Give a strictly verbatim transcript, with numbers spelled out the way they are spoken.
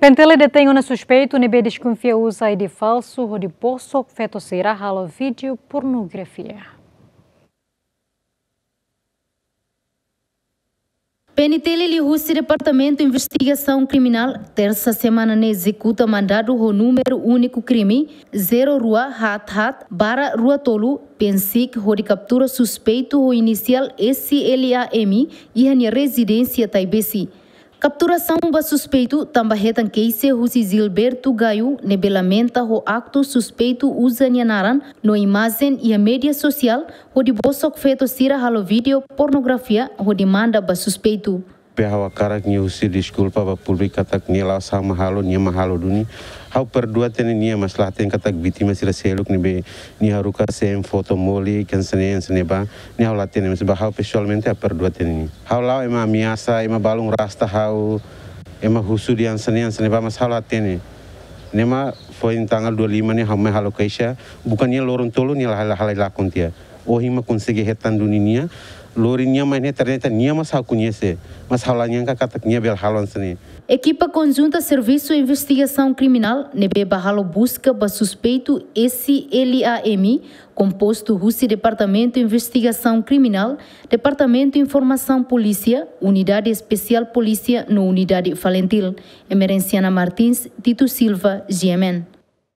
PNTL detein ona suspeitu ne'ebé deskonfia uza I D falsu hodi bosok feto sira halo vídeo pornografia. PNTL liuhusi Departamentu Investigasaun Kriminál, tersa semana ne'e ezekuta mandadu ho númeru úniku krime zero rua haat haat barra rua tolu, PNSIC, hodi kaptura suspeitu ho inisiál S L A M iha nia rezidénsia Taibesi. Kapturasaun ba suspeitu tanba hetan keixa husi Gilberto Gayo, ne'ebé lamenta ho aktu suspeitu uza nia naran no imajen iha média sosiál hodi bosok feto sira halo vídeo pornografia hodi manda ba suspeitu. Be ha'u hakarak nia husu deskulpa ba públiku katak nia la'ós ha'u mak halo, nia mak halo duni. Ha'u perdua tiha ona nia, mas la hatene katak vítima sira seluk ne'ebé nia haruka sem foto moli, hanesan ne'e hanesan ne'e ba, nia ha'u la hatene, mas ba ha'u pesoalmente ha'u perdua tiha ona nia. Ha'u la'o ema ameasa, ema balun rasta ha'u, ema husu dehan hanesan ne'e hanesan ne'e ba, mas ha'u la hatene. Ne'e mak foin tanggal dua lima ne'e ha'u mai halo keixa, buka nia loron tolu nia la halai, halai lakon tiha. Ohin mak konsege hetan duni nia, lori nia mai ne'e ternyata nia mak ha'u koñese, mas ha'u la nyangka katak nia bele halo hanesan ne'e. Ekipa konjunta Servisu Investigasaun Kriminál ne'ebé bá halo buska ba suspeitu S L A M, kompostu husi Departamentu Investigasaun Kriminál, Departamentu Informasaun Polísia, Unidade Espesiál Polísia no Unidade Falintil. Emerenciana Martins, Tito Silva, G M N.